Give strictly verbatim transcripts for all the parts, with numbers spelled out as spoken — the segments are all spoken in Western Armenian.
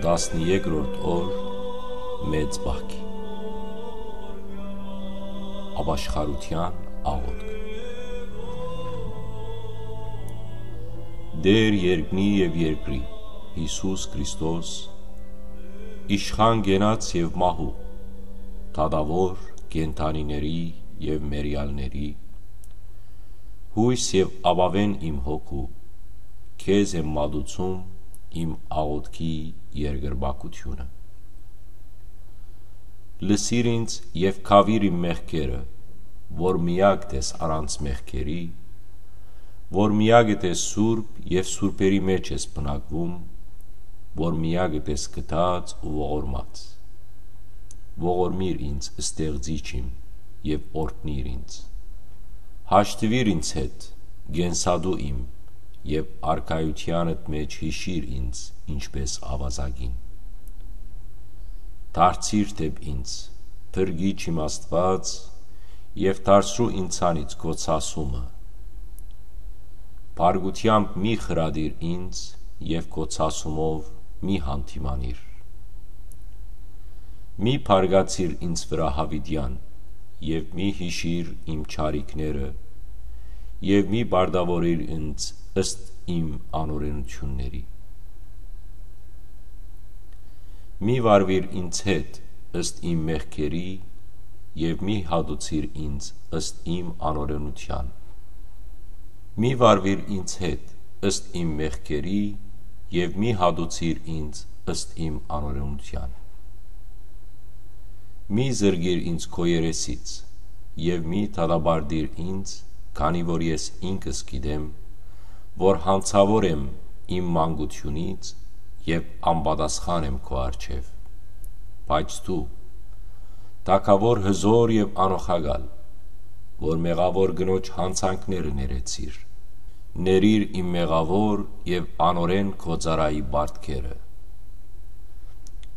Տասներկրորդ օր մեծ պահքի։ Ապաշխարութեան աղօթք։ Տէր երկնի եւ երկրի, Յիսուս Քրիստոս, իշխան կենաց եւ մահու, դատաւոր կենդանիների եւ մեռեալների, յոյս եւ ապաւէն իմ հոգու, քեզ եմ մատուցում իմ աղօթքի երկրպագութիւնը։ Լսիր ինձ եւ քաւիր իմ մեղքերը, որ միակ ես առանց մեղքերի, որ միակ ես սուրբ եւ սուրբերի մէջ ես բնակվում, որ միակ ես գթած ու ողորմած։ Ողորմիր ինձ, ստեղծիչ իմ, եւ օրհնիր ինձ։ Հաշտուիր ինձ հետ, կենսատու իմ, եւ արքայութեանդ մէջ յիշիր ինձ, ինչպէս աւազակին։ Դարձիր դէպ ինձ, փրկիչ իմ Աստուած, եւ դարձրու ինձանից քո ցասումը։ Փառկութեամբ մի խրատիր ինձ, եւ քո ցասումով մի յանդիմանիր։ Մի բարկացիր ինձ վրայ յաւիտեան, եւ մի յիշիր իմ չարիքները, եւ մի պարտաւորիր ինձ ըստ իմ անօրէնութիւնների։ Մի վարուիր ինձ հետ ըստ իմ մեղքերի, եւ մի հատուցիր ինձ ըստ իմ անօրէնութեան։ Մի վարուիր ինձ հետ ըստ իմ մեղքերի, եւ մի հատուցիր ինձ ըստ իմ անօրէնութեան։ Մի զրկիր ինձ քո երեսից, եւ մի դատապարտիր ինձ, քանի որ ես ինքս գիտեմ, որ յանցաւոր եմ իմ մանկութիւնից եւ անպատասխան եմ քո առջեւ։ Բայց դու, թագաւոր հզօր եւ անօղակալ, որ մեղաւոր կնոջ յանցանքները ներեցիր, ներիր իմ մեղաւոր եւ անօրէն քո ծառայի պարտքերը։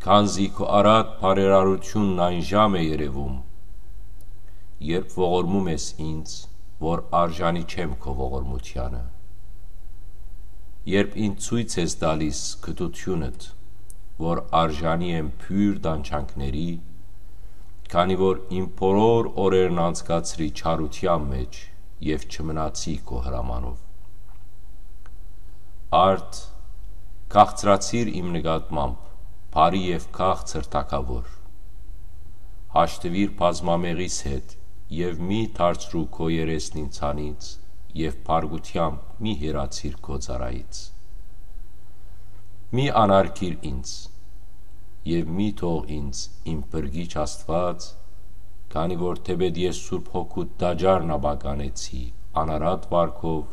Քանզի քո առատ բարերարութիւնն այն ժամ է երեւում, երբ ողորմում ես ինձ, որ արժանի չեմ քո ողորմութեանը, երբ ինձ ցոյց ես տալիս գթութիւնդ, որ արժանի եմ բոյր տանջանքների, քանի որ իմ բոլոր օրերն անցկացրի չարութեան մէջ եւ չմնացի քո հրամանով։ Արդ, քաղցրացիր իմ նկատմամբ, բարի եւ քաղցր թագաւոր։ Հաշտուիր բազմամեղիս հետ եւ մի դարձրու քո երեսն ինձանից եւ փառկութեամբ մի հեռացիր քո ծառայից։ Մի անարգիր ինձ եւ մի թող ինձ իմ փրկիչ Աստուած, քանի որ թէպէտ ես Սուրբ Հոգուդ տաճարն ապականեցի անարատ վարքով,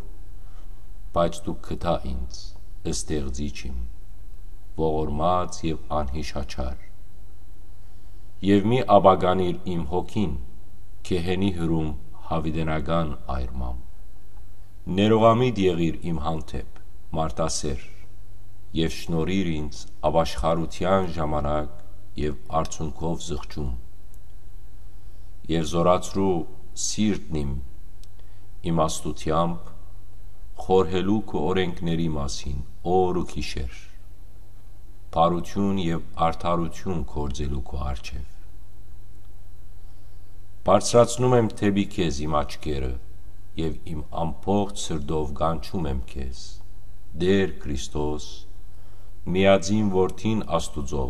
բայց դու գտա ինձ, ստեղծիչ իմ, ողորմած եւ անհիշաչար։ Եւ մի ապականիր իմ հոգին, գեհենի հրում յաւիտենական այրմամբ։ Ներողամիտ եղիր իմ հանդէպ, մարդասէր, եւ շնորհիր ինձ ապաշխարութեան ժամանակ եւ արցունքով զղջում։ Եւ զօրացրու սիրտն իմ իմաստութեամբ, խորհելու քո օրէնքների մասին օր ու գիշեր, բարութիւն եւ արդարութիւն գործելու քո առջեւ։ Բարձրացնում եմ դէպի քեզ իմ աչքերը եւ իմ ամբողջ սրտով կանչում եմ քեզ, Տէր Քրիստոս, միածին Որդին Աստուծոյ,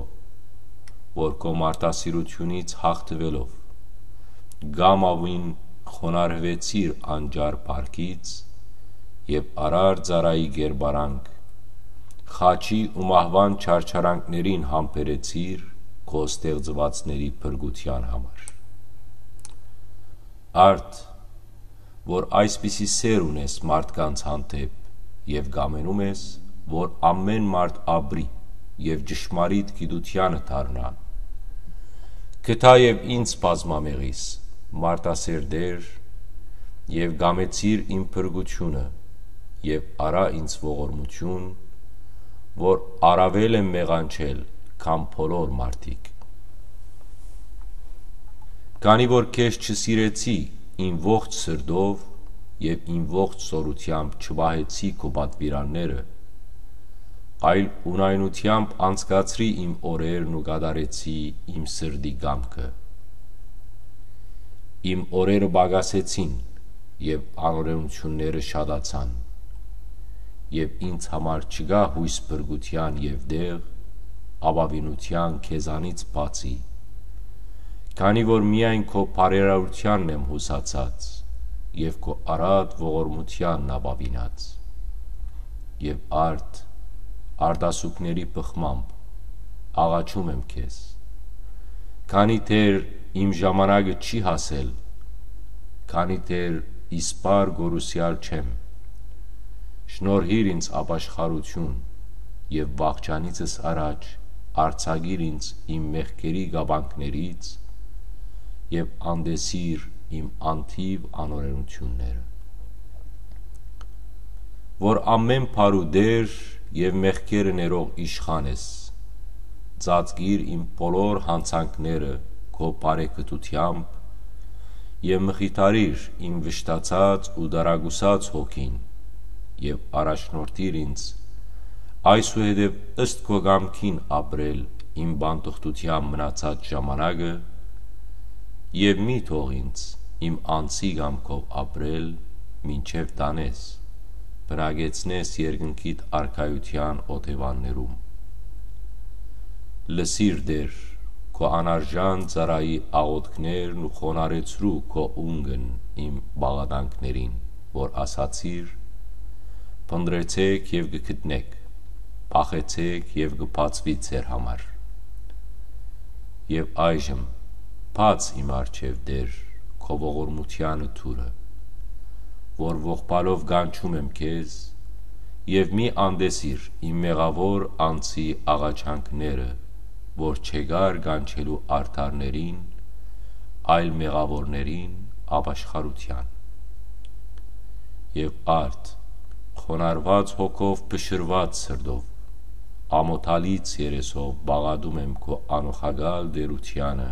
որ քո մարդասիրութիւնից յաղթուելով, կամաւին խոնարհուեցիր անճար փառքից եւ արար ծառայի կերպարանք, խաչի ու մահուան չարչարանքներին համբերեցիր քո ստեղծուածների փրկութեան համար։ Արդ, որ այսպիսի սէր ունես մարդկանց հանդէպ եւ կամենում ես, որ ամէն մարդ ապրի եւ ճշմարիտ գիտությանը դառնայ, գտա եւ ինձ բազմամեղիս, մարդասէր Տէր, եւ կամեցիր իմ փրկութիւնը, եւ արա ինձ ողորմութիւն, որ առաւել եմ մեղանչել, քան բոլոր մարդիկ։ Քանի որ քեզ չսիրեցի իմ ողջ սրտով եւ իմ ողջ զօրութեամբ չպահեցի քո պատուիրանները, այլ ունայնութեամբ անցկացրի իմ օրերն ու կատարեցի իմ սրտի կամքը։ Իմ օրերը պակասեցին եւ անօրէնութիւնները շատացան, եւ ինձ համար չկայ յոյս փրկութեան եւ տեղ, ապաւինութեան քեզանից բացի, քանի որ միայն քո բարերարութեանն եմ յուսացած եւ քո առատ ողորմութեանն ապաւինած։ Եւ արդ, արտասուքների բխմամբ աղաչում եմ քեզ, քանի դեռ իմ ժամանակը չի հասել, քանի դեռ իսպառ կորուսեալ չեմ, շնորհիր ինձ ապաշխարութիւն եւ վախճանիցս առաջ արձակիր ինձ իմ մեղքերի կապանքներից եւ անտեսիր իմ անթիւ անօրէնութիւնները։ Որ ամէն բարու Տէր եւ մեղքերը ներող իշխան ես, ծածկիր իմ բոլոր յանցանքները քո բարեկտութեամբ եւ մխիթարիր իմ վշտացած ու դարակուսած հոգին եւ առաջնորդիր ինձ այսուհետեւ ըստ քո կամքին ապրել իմ բանտուղտութեան մնացած ժամանակը, եւ մի թող ինձ իմ անձի կամքով ապրել, մինչեւ տանես, բնակեցնես երկնքիդ արքայութեան օթեւաններում։ Լսիր, Տէր, քո անարժան ծառայի աղօթքներն ու խոնարհեցրու քո ունգն իմ բաղատանքներին, որ ասացիր. «Փնտռեցէք եւ կը գտնէք, փախեցէք եւ կը բացուի ձեր համար»։ Եւ այժմ, բաց իմ առջեւ, Տէր, քո ողորմութեանը դուռը, որ ողբալով կանչում եմ քեզ, եւ մի անտեսիր իմ մեղաւոր անձի աղաչանքները, որ չեկար կանչելու արդարներին, այլ մեղաւորներին ապաշխարութեան։ Եւ արդ, խոնարհուած հոգով, փշրուած սրտով, ամոթալից երեսով պաղատում եմ քո անօղակալ տէրութեանը,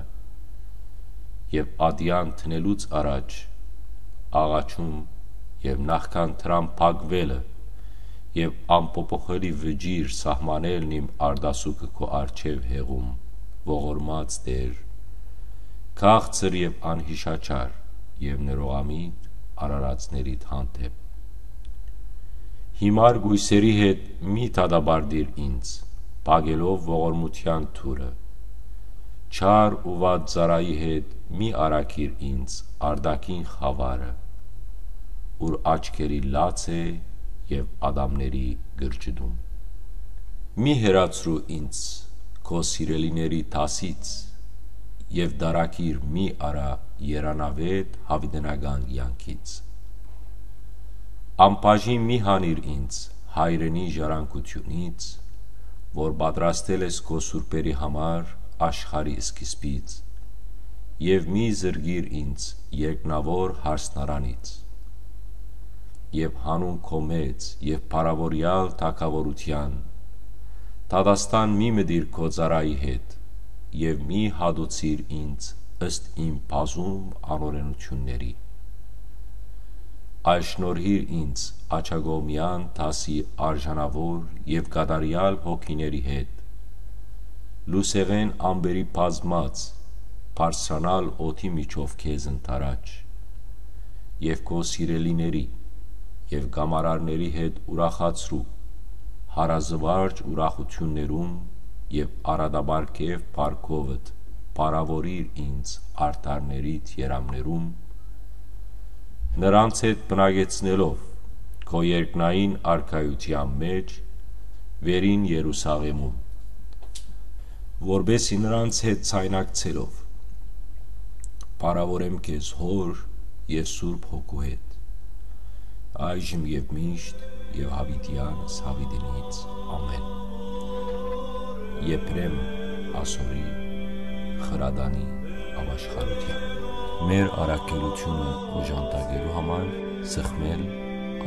եւ ատեան դնելուց առաջ աղաչում եւ նախքան դրան փակուելը եւ անփոփոխելի վճիռ սահմանելն իմ արտասուքը քո առջեւ հեղում, ողորմած Տէր, քաղցր եւ անյիշաչար եւ ներողամիտ արարածներիդ հանդէպ։ Հիմար կոյսերի հետ մի դատապարտիր ինձ, փակելով ողորմութեան դուռը։ Չար ու վատ ծառայի հետ մի առաքիր ինձ արտաքին խաւարը, ուր աչքերի լաց է եւ ատամների կրճտում։ Մի հեռացրու ինձ քո սիրելիների դասից եւ դարակիր մի առա երանաւէտ յաւիտենական կեանքից։ Անբաժին մի հանիր ինձ հայրենի ժառանգությունից, որ պատրաստել ես քո սուրբերի համար աշխարհի սկիզբից, եւ մի զրկիր ինձ երկնաւոր հարսնարանից, եւ հանուն քո մեծ եւ փառաւորեալ թագաւորութեան, դատաստան մի մտիր քո ծառայի հետ, եւ մի հատուցիր ինձ ըստ իմ բազում անօրէնութիւնների։ Այլ շնորհիր ինձ աջակողմեան դասի արժանաւոր եւ կատարեալ հոգիների հետ, լուսեղէն ամպերի բազմած, բարձրանալ օդի միջով քեզ ընդառաջ, եւ քո սիրելիների եւ կամարարների հետ ուրախացրու հարազվարճ ուրախութիւններում եւ արատապարգեւ փառքովդ փառաւորիր ինձ արդարներիդ երամներում, նրանց հետ բնակեցնելով քո երկնային արքայութեան մէջ, վերին Երուսաղէմում, որպէս զի նրանց հետ ցայնակցելով փառաւորեմ քեզ Հօր եւ Սուրբ Հոգու հետ, այժմ եւ միշտ եւ յաւիտեանս յաւիտենից։ Ամէն։ Եփրեմ Ասորի խրատանի ապաշխարութեան։ Մեր առաքելութիւնը օժանդակելու համար սխմել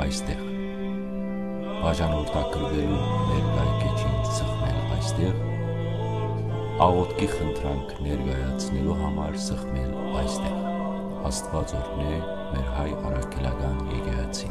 այստեղ։ Բաժանորդագրվելու մեր կայքէջին սխմել այստեղ, աղօթքի խնդրանք ներկայացնելու համար սխմել այստեղ։ Աստուած օրհնէ մեր հայ առաքելական եկեղեցին։